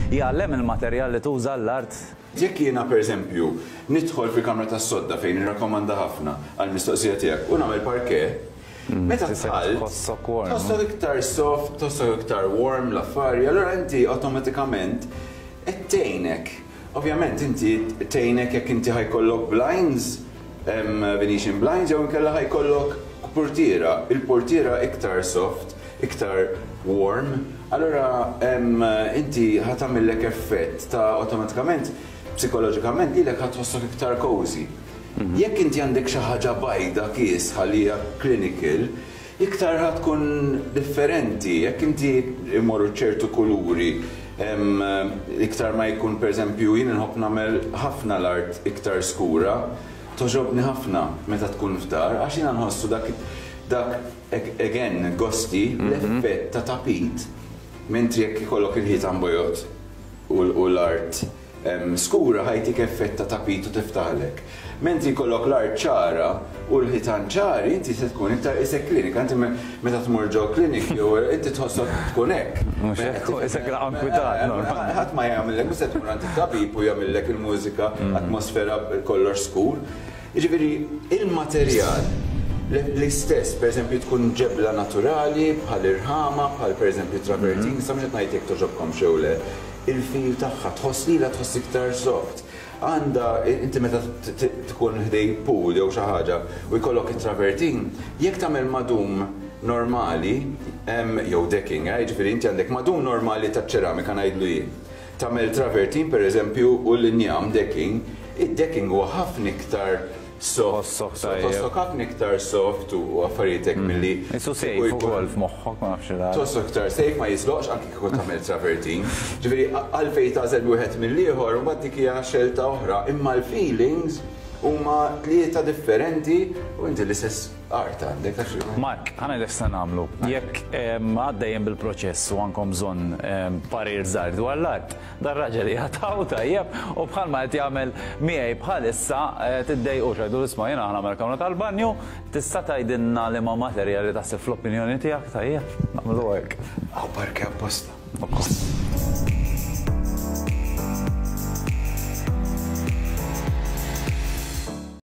Jgħallem il-materjal li tuża l-art? Jekk jiena pereżempju nidħol fil-kamra tas-sodda fejn nirrakkomanda ħafna għall-mistoqsija tiegħek u nagħmel parquet, meta dħalt tħossok iktar soft, tħossok iktar warm l-affari, allura inti awtomatikament qed tgħinek. Ovvjament inti tgħinek jekk inti ħa jkollok blinds, Venetian blinds jew inkella ħa jkollok purtiera. Il-purtiera iktar soft, iktar warm, allura inti ħa tagħmillek effett ta' awtomatikament psikoloġikament lilek ħa tħossok iktar cozy. Jekk inti għandek xi ħaġa bajda kiesħa li hija clinical, iktar ħa tkun differenti. Jekk inti imorru ċertu kuluri, iktar ma jkun pereżempju jien inħobb nagħmel ħafna l-art iktar skura, togħġobni ħafna meta tkun f'dar għax jiena nħossu dak dak Again, gosti, l-effett ta' tapit, mentri jekk ikollok il-ħitan bojod u l-art skura ħa jtik effett ta' tapit u tiftaħlek. Mentri jkollok l-art ċara u l-ħitan ċari, inti se tkun iktar qisek klinika. Inti meta tmur ġo klinik jew inti tħossok tkun hekk. Mhux hekk, qisek inkwitat normalment. Ħadd ma jagħmillek, mhux se tmur għand it-tabib u jagħmillek il-mużika, atmosfera kollox skur. Jiġifieri, il-materjal l-istess, pereżempju tkun ġebla naturali bħal irħama, bħal pereżempju travertin, issa mhux qed ngħid jekk togħġobkomx jew le, il-feel tagħha, tħoss lilha tħoss iktar soft. Għandha, inti meta tkun ħdej pool jew xi ħaġa u jkollok it-travertin, jekk tagħmel madum normali, jew decking, eh, jiġifieri inti għandek madum normali taċ-ċeramika ngħidlu jien. Tagħmel travertin pereżempju u l-injam decking, id-decking huwa ħafna iktar soft, tħossok ħafna iktar soft u affarijiet hekk milli. Qisu safe ukoll f'moħħok ma nafx il-għala. Tħossok iktar safe ma jiżloqx anki kieku tagħmel travertin. Ġifieri għalfejn tagħżel wieħed mill-ieħor imbagħad dik hija xelta oħra, imma l-feelings huma tlieta differenti u inti l-istess Art għandek għax. Mark, ħa ngħidlek x'se nagħmlu. Jekk għaddejjin bil-proċess u għandkom bżonn parir żgħir dwar l-art, dar-raġel qiegħed hawn tajjeb u bħalma qed jagħmel miegħi bħalissa tiddejqux għidulu isma' jiena ħa nagħmel kamra tal-banju, tista' tgħidilna liema materjali taħseb fl-opinjoni tiegħek tajjeb? Nagħmlu hekk. Hawn parke apposta. Ukoll.